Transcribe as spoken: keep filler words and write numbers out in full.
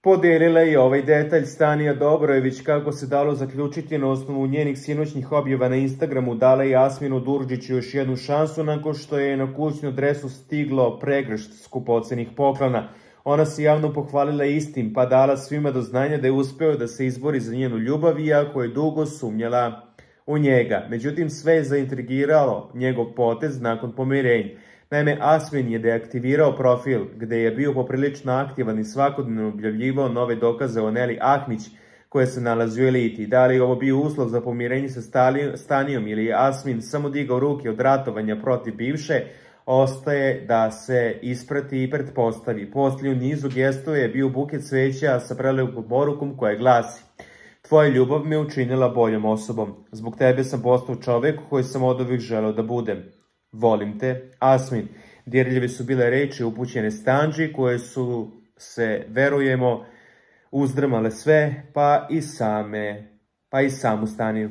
Podijelila je ovaj detalj Stanija Dobrojević, kako se dalo zaključiti na osnovu njenih sinoćnih objava na Instagramu, dala je Asminu Đurđiću još jednu šansu nakon što je na kućnu adresu stiglo pregršt skupocenih poklona. Ona se javno pohvalila istim, pa dala svima do znanja da je uspeo da se izbori za njenu ljubav, iako je dugo sumnjala u njega. Međutim, sve je zaintrigiralo njegov potez nakon pomirenja. Naime, Asmin je deaktivirao profil gde je bio poprilično aktivan i svakodnevno objavljivao nove dokaze o Neli Ahmić koja se nalazi u eliti. Da li je ovo bio uslov za pomirenje sa Stanijom ili je Asmin samo digao ruke od ratovanja protiv bivše, ostaje da se isprati i pretpostavi. Poslije u nizu gestova je bio buket cveća sa prelepom porukom koja glasi: "Tvoja ljubav me učinila boljom osobom. Zbog tebe sam postao čovek koji sam oduvek želeo da budem. Volim te, Asmin." Dirljive su bile reči upućene Stanđi koje su se, verujemo, uzdrmale sve, pa i same, pa i samu Staniju.